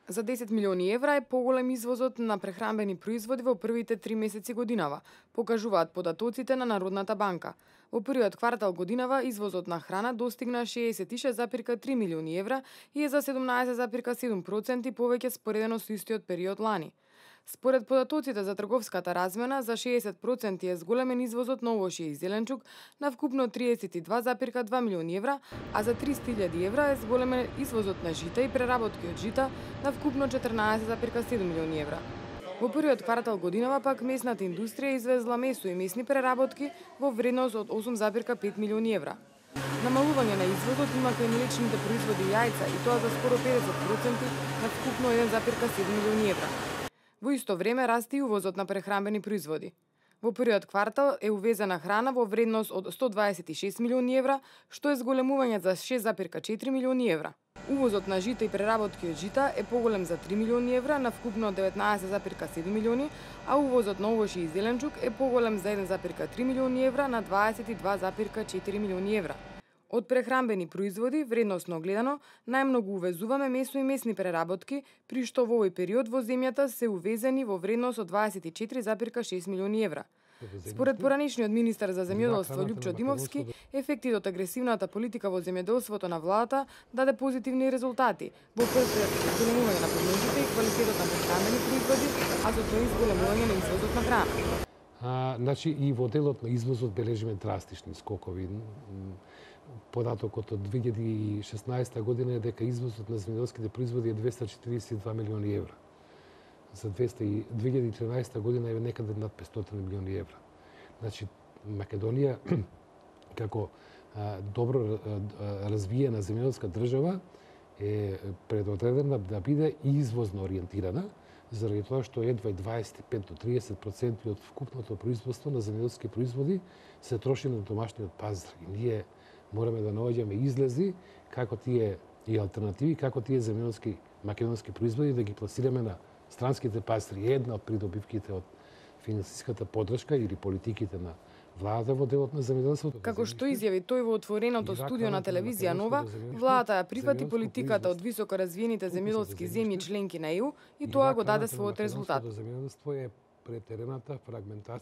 За 10 милиони евра е поголем извозот на прехранбени производи во првите 3 месеци годинава, покажуваат податоците на Народната банка. Во првиот квартал годинава извозот на храна достигна 66,3 милиони евра и е за 17,7% повеќе споредено со истиот период лани. Според податоците за трговската размена, за 60% е зголемен извозот на овошје и зеленчук на вкупно 32,2 милиони евра, а за 300.000 евра е зголемен извозот на жита и преработки од жита на вкупно 14,7 милиони евра. Во првиот квартал годинава пак месната индустрија извезла месо и месни преработки во вредност од 8,5 милиони евра. Намалување на извозот има кај млечните производи и јајца и тоа за скоро 50% на вкупно 1,7 милиони евра. Во исто време расте и увозот на прехранбени производи. Во првиот квартал е увезена храна во вредност од 126 милиони евра, што е зголемување за 6,4 милиони евра. Увозот на жита и преработки од жита е поголем за 3 милиони евра на вкупно 19,7 милиони, а увозот на овошје и зеленчук е поголем за 1,3 милиони евра на 22,4 милиони евра. Од прехранбени производи, вредносно гледано, најмногу увезуваме месо и месни преработки, при што во овој период во земјата се увезени во вредност од 24,6 милиони евра. Според поранешниот министар за земјоделство Љупчо Димовски, ефектите од агресивната политика во земјоделството на владата даде позитивни резултати во зголемување на понудите и квалитетот на прехранбени производи, а со тоа и зголемување на извозот на храна. Значи и во делот на извозот бележиме драстични скокови. Податокот од 2016 година е дека извозот на земјоделските производи е 242 милиони евра. За 2013 година е некаде над 500 милиони евра. Значи, Македонија, како добро развиена земјоделска држава, е предодредена да биде извозно ориентирана, заради тоа што едва 25 до 30% од вкупното производство на земјоделски производи се троши на домашниот пазар. И ние мораме да наоѓаме излези како тие и алтернативи, како тие земјоделски македонски производи да ги пласираме на странските пазари. Една од придобивките од финансиската поддршка или политиките на владата во делот на земјоделството. Како што изјави тој во отвореното студио на телевизија Нова, владата ја прифати политиката од високо развиените земјоделски земји членки на ЕУ и тоа го даде својот резултат. Земјоделство е претерената фрагментација